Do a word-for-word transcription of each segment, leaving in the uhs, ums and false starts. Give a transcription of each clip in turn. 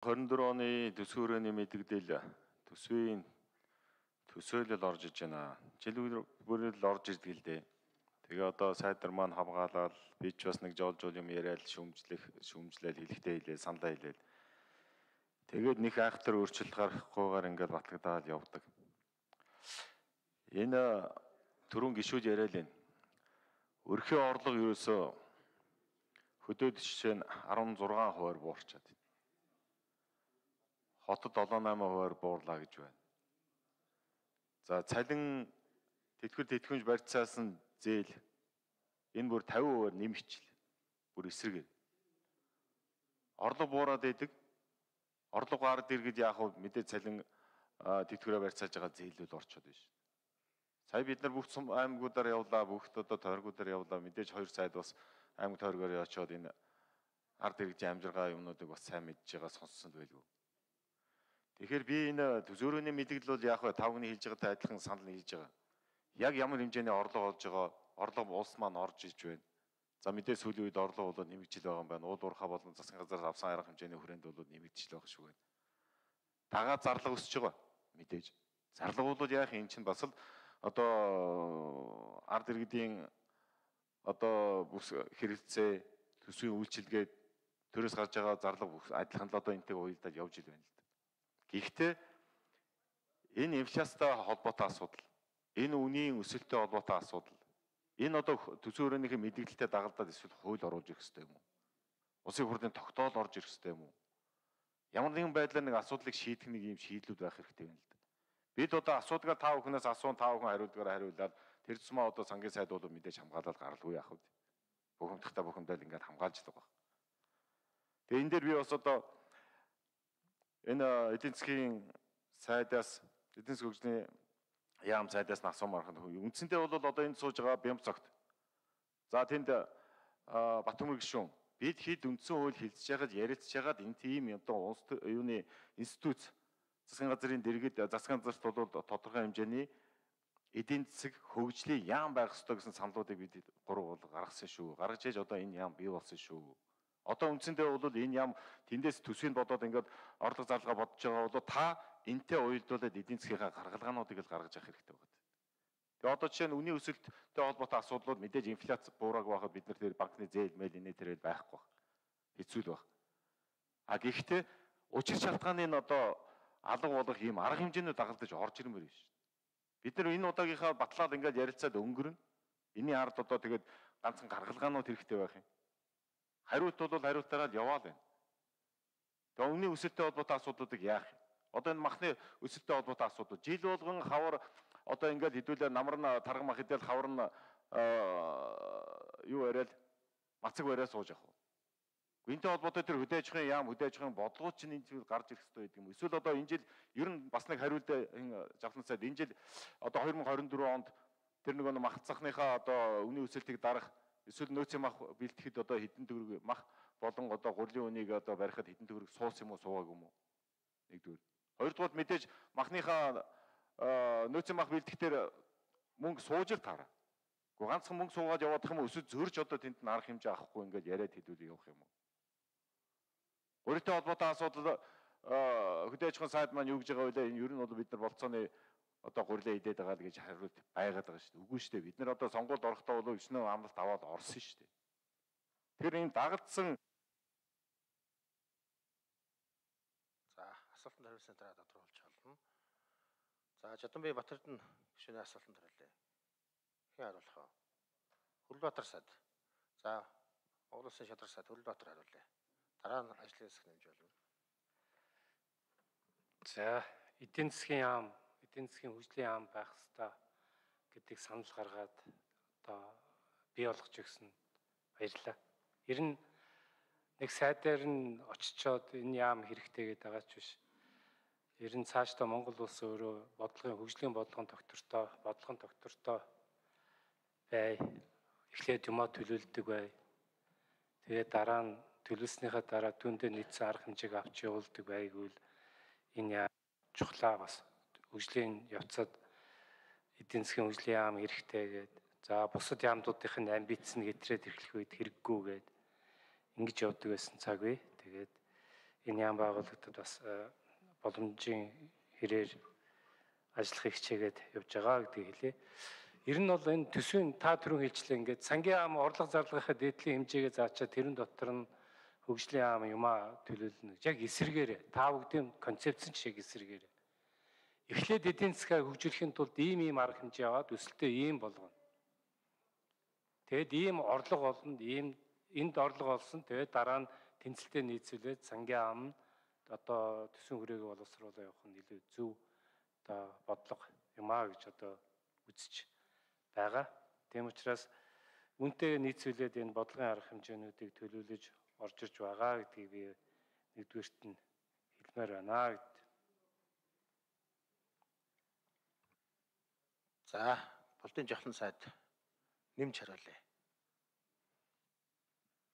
двадцать четыре оны төсвийн хүрээний мэдэгдэл төсвийн төсөөлөл орж иж байна. Жил бүрэл орж ирдэг л дээ. Тэгээ одоо сайдар маань хамгаалал би ч бас нэг жол жол юм яриад шүмжлэх шүмжлэл хэлэхдээ хэлээ саналаа хэлээд. Тэгээд нэг айхтар өөрчлөлт гарахгүйгээр ингээд батлагдаад явдаг. Энэ түрүүн гişүүд яриад байна. Өрхийн орлого ерөөсөө хөдөөд жишээ нь арван зургаан хувиар буурчаад байна. Хотод долоо наймаа хувиар буурлаа гэж байна. За цалин тэтгэр тэтгэмж барьцаас нь зээл энэ бүр тавин хувиар нэмэгчл. Бүр эсрэгээр. Орлого буураад идэг. Орлого гард иргэд яг хөө мэдээ цалин тэтгэрээ барьцааж байгаа зээлүүд орчод байна шүү. Сая бид нар бүх аймагуудаар явлаа, бүх одоо тойргуудаар явлаа. Мэдээж хоёр сайд бас аймаг тойргоор очиод энэ ард иргэдийн амжиргаа юмнуудыг бас сайн мэдж байгаа сонссон байлгүй. Тэгэхээр би энэ төсөөрөөний мэдээлэл бол яг тавгны хэлж байгаатай адилхан санал хийж байгаа. Яг ямар хэмжээний орлого олж байгаа, орлого улс маань орж иж байна. За мэдээ сүүлийн үед орлого бол нэмэгдэл байгаа юм байна. Уул уурхай болон засгийн газраас авсан арга хэмжээний хүрээнд бол нэмэгдэл байгаа шүү байна. Дагаад зарлага өсөж байгаа мэдээж. Зарлага бол яах юм чинь бас л одоо ард иргэдийн одоо бүс хэрэгцээ төсвийн үйлчилгээд төрөөс гарч байгаа зарлага адилхан л одоо энэтэй уялдаад явж ил байна л да. Гэхдээ энэ инфляцтай холбоотой асуудал, энэ үнийн өсөлттэй холбоотой асуудал, энэ одоо төсвийн хүрээлэнийхээ мэдээлэлтэй дагалдаад эсвэл хууль оруулж ирэх хэрэгтэй юм уу? Улсын хурлын тогтоол орж ирэх хэрэгтэй юм уу? Ямар нэгэн байдлаар нэг асуудлыг шийдэх нэг юм шийдлүүд байх хэрэгтэй байна л да. Бид одоо асуудгаа та бүхнээс асуун та бүхэн хариулдгаар хариулаад тэр тусмаа одоо сангийн сайд бол мэдээж хамгаалаад гаралгүй яах вэ? Бухимдахтай бухимдаад ингээд хамгаалж л байгаа. Тэгээ энэ дээр би бас одоо энэ эдийн засгийн сайдаас эдийн засгийн хөгжлийн яам сайдаас асуумаар хань үндсэндээ бол одоо энд сууж байгаа Бямцогт. За тэнд Батөмөр гишүүн бид хэд үндсэн хууль хэлцэж яхад ярилцж яхад энэ тийм одоо улс юуны институт засгийн газрын дэргэд засгийн газарт бол тодорхой хэмжээний эдийн засаг хөгжлийн яам байх ёстой гэсэн саналуудыг бид гурав бол гаргасан шүү. Гаргаж ээж одоо энэ яам бий болсон шүү. Одоо үндсэндээ бол энэ яам тэндээс төсвийг бодоод ингээд орлого зарлага бодож байгаа бол та энтэй уялдуулаад эдийн засгийнхаа гаргалгаануудыг л гаргаж авах хэрэгтэй байна. Тэгээ одоо жишээ нь үнийн өсөлттэй холбоотой асуудлууд мэдээж инфляц буурааг байхад бид нар тэр банкны зээл мэйл инээ тэрэл байхгүй баг. Хэцүү л баг. А гэхдээ учир шалтгааны нь одоо алга болох ийм арга хэмжээнүүд дагалдаж орж ирмээр байна шүү. Бид нар энэ удаагийнхаа батлаад ингээд ярилцаад өнгөрнө. Энийн ард одоо тэгээд ганцхан гаргалгаанууд хэрэгтэй байх юм. Хариулт бол хариултаараа л яваал байна. Тэгээ үнийн өсөлттэй холбоотой асуудлуудыг яах юм? Одоо энэ махны өсөлттэй холбоотой асуудал жил болгон хавар одоо ингээд хэдүүлээ намар нь тарга мах идэл хавар нь юу яриад мацаг бариад сууж явах. Энэтэй холбоотой тэр хөдөө аж ахуйн яам хөдөө аж ахуйн бодлогууд чинь энэ жил гарч ирэх хэрэгтэй гэдэг юм. Эсвэл одоо энэ жил ер нь бас нэг хариулт завлан сайд энэ жил одоо две тысячи двадцать четыре онд тэр нэг мах цахныхаа одоо үнийн өсөлтийг дарах эсвэл нөөцийн мах бэлтгэхэд одоо хэдэн төгрөг мах болон одоо гурлийн үнийг одоо барихад хэдэн төгрөг суус юм уу суугааг юм уу? Нэгдүгээр. Хоёрдугаар мэдээж махныхаа нөөцийн мах бэлтгэхээр мөнгө сууж л таараа. Гэхдээ ганцхан мөнгө суугаад явах юм уу эсвэл зөрж одоо тэнд нь арга хэмжээ авахгүй ингээд яриад хэдүүлээ явах юм уу? Өөртөө холбоотой асуудал хөдөө аж ахуйн сайд маань юу гэж байгаа вэ? Энэ ер нь бол бид нар болцооны одоо гурилаа идээд байгаа л гэж хариулт байгаад байгаа шүү дээ. Үгүй шүү дээ. Бид нар одоо сонгуульд орохдоо бол өчнөө амлалт аваад орсон шүү дээ. Тэр энэ дагагдсан за асуултанд хариулсан дараа тодорхойлж олно. За Жадамбай Батэрдэн гишүүний асуултанд хариулъя. Хэн хариулах вэ? Хүрлбаатар сайд. За Монгол Улсын шадар сайд Хүрлбаатар хариулъя. Дараа нь ажлын хэсэг нэмж болно. За эдийн засгийн яам, эдийн засгийн хөгжлийн яам байх ёстой гэдгийг санал гаргаад одоо бий болгож өгсөн баярлалаа. Ер нь нэг сайдаар нь очичоод энэ яам хэрэгтэй гэдэг байгаа ч биш. Ер нь цаашдаа Монгол улс өөрөө бодлогын хөгжлийн бодлогын доктортой, бодлогын доктортой бай. Эхлээд юмаа төлөвлөдөг бай. Тэгээд дараа нь төлөвлөснийхаа дараа түүндээ нийцсэн арга хэмжээг авч явуулдаг байггүй энэ яам чухлаа бас хөгжлийн явцад эдийн засгийн хөгжлийн яам хэрэгтэй гэдэг. За бусад яамдуудын амбиц нь гэтрээд эхлэх үед хэрэггүй гэдэг ингэж явдаг байсан цаг бий. Тэгээд энэ яам байгууллагад бас боломжийн хэрээр ажиллахыг хичээгээд явж байгаа гэдгийг хэлье. Ер нь бол энэ төсвийн та түрүүн хэлжлээ ингээд сангийн яам орлого зарлахынхаа дээдлийн хэмжээгээ заачаад тэрэн дотор нь хөгжлийн яам юмаа төлөөлнө гэж яг эсэргээр та бүгдийн концепцэн шиг эсэргээр. Эхлээд эдийн засгаа хөгжүүлэхийн тулд ийм ийм арга хэмжээ аваад өсөлтөө ийм болгоно. Тэгэд ийм орлого олно, ийм энд орлого олсон. Тэгээд дараа нь тэнцэлтэд нийцүүлээд сангийн яам нь одоо төсвийн хүрээгээ боловсруулах явах нь илүү зөв одоо бодлого юмаа гэж одоо үзэж байгаа. Тийм учраас үүнтэй нийцүүлээд энэ бодлогын арга хэмжээнүүдийг төлөвлөж орж ирж байгаа гэдгийг би нэгдүгээрт нь хэлмээр байна гэд. За, Булдын жавхлан сайд нэмж хариулъя.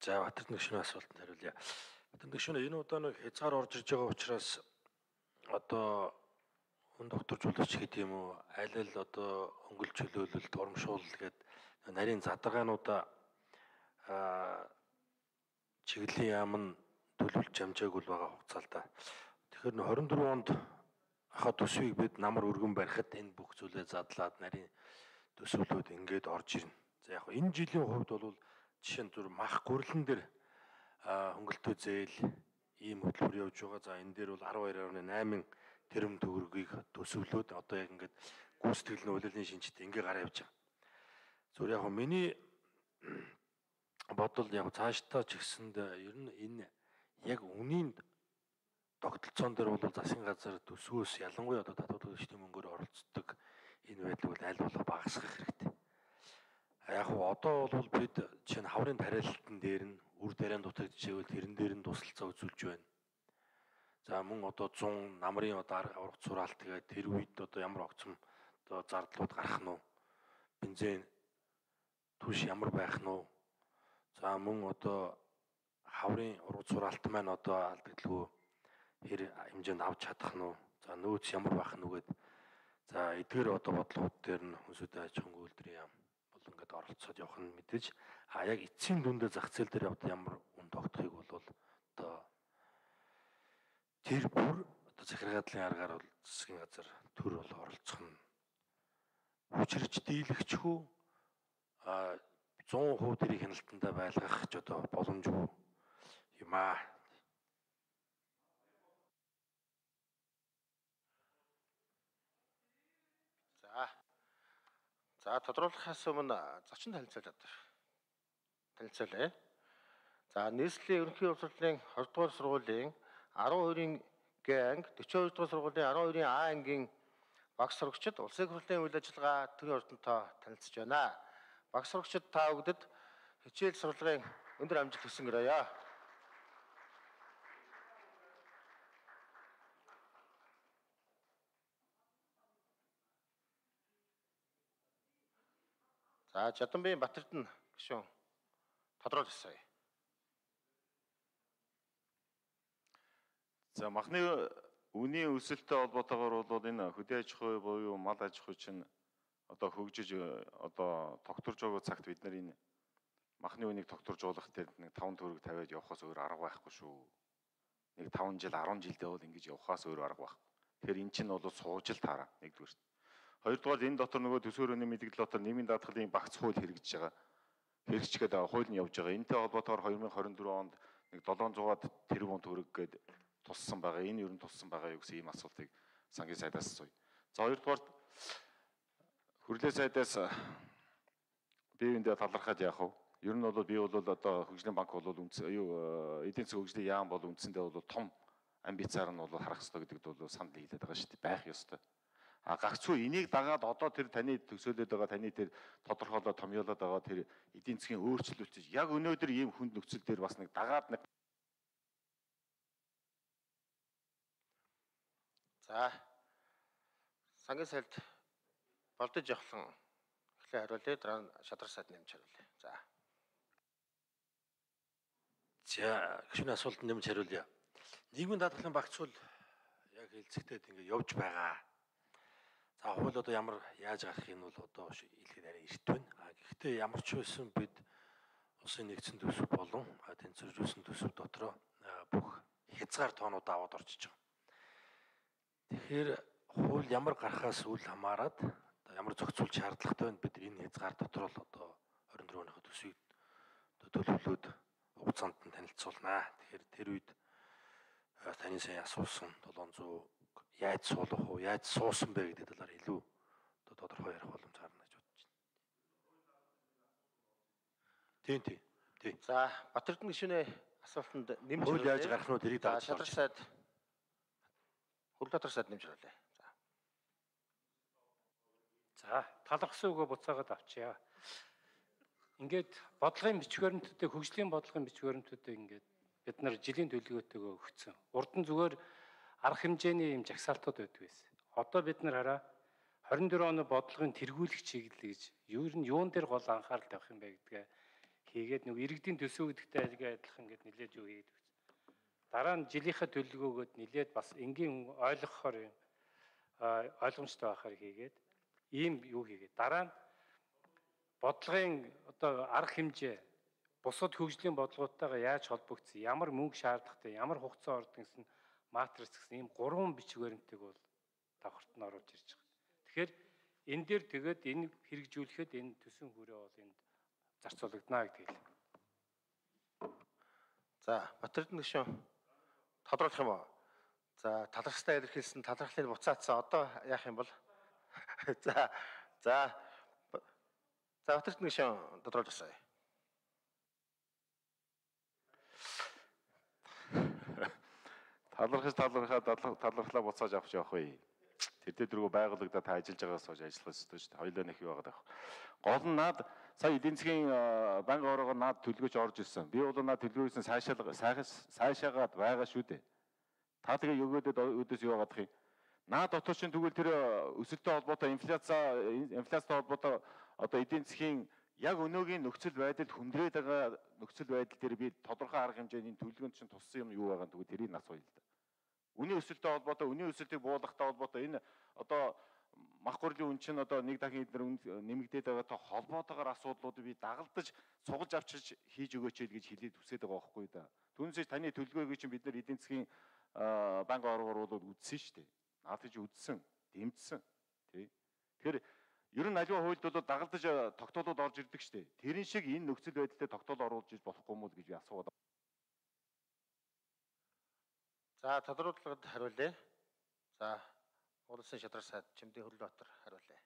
За, Батэрдэн гишүүний асуултанд хариулъя. Батэрдэн гишүүн энэ удаа нэг хязгаар орж ирж байгаа учраас одоо хүн докторжуулагч гэдэг юм уу, аль аль одоо өнгөл чөлөөлөлт, урамшуул гээд нарийн задаргаануудаа аа чиглэлийн яам нь төлөвлөж амжаагүй байгаа хугацаа л да. Тэгэхээр хорин дөрвөн онд хаа төсвийг бид намар өргөн барихад энэ бүх зүйлээ задлаад нарийн төсвөлүүд ингээд орж ирнэ. За яг энэ жилийн хувьд бол жишээ нь зүр мах гүрлэн дээр хөнгөлтөө зээл ийм хөтөлбөр явж байгаа. За энэ дээр бол арван хоёр орны найман тэрбум төгрөгийг төсвөлөөд одоо яг ингээд гүйцэтгэл нь улирлын шинжтэй ингээ гараа явж байгаа. Зүр яг миний бодол яг цаашдаа ч гэсэнд ер нь энэ яг үнийн тогтолцоон дээр бол засгийн газар төсвөөс ялангуяа одоо татвар төлөгчдийн мөнгөөр оролцдог энэ байдал бол аль болох багасгах хэрэгтэй. Яг нь одоо бол бид чинь хаврын тариалалтын дээр нь үр тариан дутагдчихвэл тэрэн дээр нь тусалцаа үзүүлж байна. За мөн одоо зун намрын одоо ургац сураалт тэгээд тэр үед одоо ямар огцом одоо зардлууд гарах нь уу? Бензин түш ямар байх нь уу? За мөн одоо хаврын ургац сураалт маань одоо алдагдлгүй хэр хэмжээнд авч чадах нь уу? За нөөц ямар байх нь үгээд за эдгээр одоо бодлогууд дээр нь хүнсүдэ аж ахуйн үйлдвэрийн яам бол ингээд оролцоод явах нь мэдээж а яг эцсийн дүндээ зах зээл дээр одоо ямар үн тогтохыг бол одоо тэр бүр одоо захиргааллын аргаар бол засгийн газар төр бол оролцох нь хүчирч дийлэгчгүй а сто процент тэрийг хяналтандаа байлгах ч одоо боломжгүй юм аа. За. За тодруулахаас өмнө зочин танилцуулаад танилцуулъя. За нийслэлийн ерөнхий боловсролын хоёр дугаар сургуулийн арван хоёрын Г анги, дөрвөн дугаар сургуулийн арван хоёрын А ангийн багш сурагчид улсын хурлын үйл ажиллагаа төрийн ордонтой танилцж байна. Багш сурагчид та бүгдд хичээл сурлагын өндөр амжилт хүсэнгэрье. За Жаданбийн Батэрдэн гишүүн тодруулъя. За махны үнийн өсөлттэй холбоотойгоор бол энэ хөдөө аж ахуй буюу мал аж ахуй чинь одоо хөгжиж одоо тогтворж байгаа цагт бид нар энэ махны үнийг тогтворжуулах дээр нэг таван төгрөг тавиад явахаас өөр арга байхгүй шүү. Нэг таван жил арван жилдээ бол ингэж явахаас өөр арга байхгүй. Тэгэхээр эн чинь бол суужил таараа нэгдүгээр. Хоёрдугаар энэ дотор нөгөө төсөөрөний мэдээлэл дотор нэмийн даатгалын багц хууль хэрэгжиж байгаа. Хэрэгжчихэд хууль нь явж байгаа. Энтэй холбоотойгоор две тысячи двадцать четыре онд нэг седемсот тэрбум төгрөг гээд туссан байгаа. Энэ ер нь туссан байгаа юу гэсэн ийм асуултыг сангийн сайдаас асууя. За хоёрдугаар хурлын сайдаас бие биендээ талархаад яах вэ? Ер нь бол би бол одоо хөгжлийн банк бол үндэс юу эдийн засгийн хөгжлийн яам бол үндсэндээ бол том амбицаар нь бол харах ёстой гэдэгт бол санал нийлээд байгаа шүү дээ. Байх ёстой. А гагцгүй энийг дагаад одоо тэр таны төсөөлөд байгаа таны тэр тодорхойлоод томьёолоод байгаа тэр эдийн засгийн өөрчлөлт яг өнөөдөр ийм хүнд нөхцөл дээр бас нэг дагаад нэг. За сангийн сайд Болдож явахлан эхлээ хариулъя. Дараа нь шадар сайд нэмж хариулъя. За. За гишүүний асуултанд нэмж хариулъя. Нийгмийн даатгалын багц хууль яг хэлцэгдээд ингэ явж байгаа. За хууль одоо ямар яаж гарахыг нь бол одоо хэлэхэд арай эрт байна. А гэхдээ ямар ч байсан бид улсын нэгдсэн төсөв болон тэнцвэржүүлсэн төсөв дотроо бүх хязгаар тоонуудаа аваад орчиж байгаа. Тэгэхээр хууль ямар гарахаас үл хамааран одоо ямар зохицуулж шаардлагатай байна бид энэ хязгаар дотор л одоо хорин дөрөв оныхоо төсвийг төлөвлөлөөд хугацаанд нь танилцуулнаа. Тэгэхээр тэр үед таны сайн асуусан долоон зуун яаж суулгах уу, яаж суусан бэ гэдэг талаар илүү одоо тодорхой ярих боломж гарна гэж бодож байна. Тийм тийм. Тийм. За Батэрдэн гишүүний асуултанд нэмж хууль яаж гарах нь тэрийг За дарж шадар сайд Хөрлөтөр сайд нэмж харуулъя. За. За талархсан үгөө буцаагаад авчия. Ингээд бодлогын бичвэрнтүүдээ хөгжлийн бодлогын бичвэрнтүүдээ ингээд бид нар жилийн төлөвлөгөөтэйгөө өгсөн. Урд нь зүгээр арга хэмжээний юм жагсаалтууд байдаг байсан. Одоо бид нар хараа хорин дөрөв оны бодлогын тэргүүлэх чиглэл гэж юу нь юун дээр гол анхаарал тавих юм бэ гэдгээ хийгээд нэг иргэдийн төсөв гэдэгтэй айлгаа адилхан ингээд нэлээд юу хийгээд өгсөн. Дараа нь жилийнхаа төлөвлөгөөгөөд нэлээд бас энгийн ойлгохоор юм ойлгомжтой байхаар хийгээд ийм юу хийгээд дараа нь бодлогын одоо арга хэмжээ бусад хөгжлийн бодлогоотойгоо яаж холбогдсон, ямар мөнгө шаардлагатай, ямар хугацаа ордог гэсэн матрис гэсэн ийм гурван бичвэрнтэйг бол давхарт нь оруулж ирж байгаа. Тэгэхээр энэ дээр тэгээд энэ хэрэгжүүлэхэд энэ төсвийн хүрээ бол энд зарцуулагдана гэдэг хэлээ. За Батэрдэн гишүүн тодруулах юм уу? За талархстай илэрхийлсэн талархлыг буцаацсан одоо яах юм бол? За за за Батэрдэн гишүүн тодруулж асууя. Талархаж талархаад талархлаа буцааж авч явах вэ? Тэр дээр дөрөв байгууллагадаа та ажиллаж байгаас хойш ажиллах ёстой шүү дээ. Хоёулаа нэг юу байгаа даа. Гол нь наад сая эдийн засгийн банк орогоор наад төлгөөж орж ирсэн. Би бол наад төлгөөсөн сайшаал сайшаагаад байгаа шүү дээ. Та тэгээ өгөөдөд өдөөс юу гадах юм? Наад дотор чинь тэгвэл тэр өсөлттэй холбоотой инфляци инфляцтай холбоотой одоо эдийн засгийн яг өнөөгийн нөхцөл байдалд хүндрээд байгаа нөхцөл байдал дээр би тодорхой арга хэмжээний төлөвлөгөөнд чинь туссан юм юу байгаа тэгвэл тэрийг асууя л да. Үнийн өсөлттэй холбоотой үнийн өсөлтийг буулгахтай холбоотой энэ одоо мах хурлын үн чинь одоо нэг дахин эдгээр нэмэгдээд байгаатай холбоотойгоор асуудлуудыг би дагалдаж сугалж авчиж хийж өгөөч гэж хэлээд хүсэж байгаа байхгүй да. Түүнээс таны төлөвлөгөөг чинь бид нар эдийн засгийн банк оргоор бол үзсэн шүү дээ. Наад чи үзсэн, дэмжсэн тий. Тэгэхээр ер нь аливаа хуульд бол дагалдаж тогтоолууд орж ирдэг шүү дээ. Тэрэн шиг энэ нөхцөл байдлаар тогтоол оруулж иж болохгүй мүү гэж би асууад. За тодруулгад хариулъя. За Улсын шадар сайд Чимдийн Хөрлөбаатар хариулъя.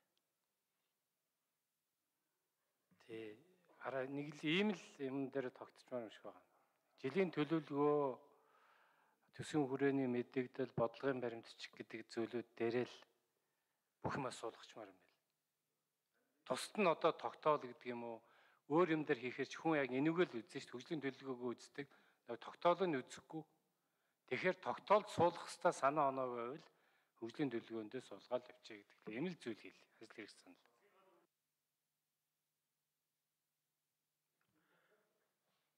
Тий. Араа нэг л ийм л юм дээр тогтцмаар юм шиг байна. Жилийн төлөвлөгөө төсвийн хүрээний мэдээлэл бодлогын баримтчиг гэдэг зүйлүүд дээрээ л бүх юм асуулгачмаар юм байна. Тусад нь одоо тогтоол гэдэг юм уу өөр юм дээр хийхээр ч хүн яг энүүгээр л үзэн шүү дээ. Хөгжлийн төлөвлөгөөгөө үздэг. Тогтоолыг нь үзэхгүй. Тэгэхээр тогтоолд суулгах хэвээр санаа оноо байвал хөгжлийн төлөвлөгөөндөө суулгаад явчих гэдэг. Энэ л зүйл хэл. Ажил хэрэг санал.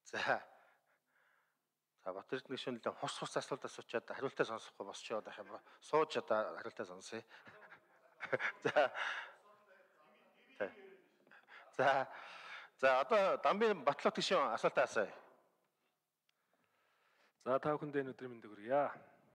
За. За Батэрдэн гишүүн л хус хус асуулт асуучаад хариултаа сонсохгүй босч яваад байх юм ба. Сууж одоо хариултаа сонсъё. За. За. За одоо Дамбын Батлот гишүүн асуултаа асууя. За та бүхэндээ өнөөдрийн мэндийг хүргье.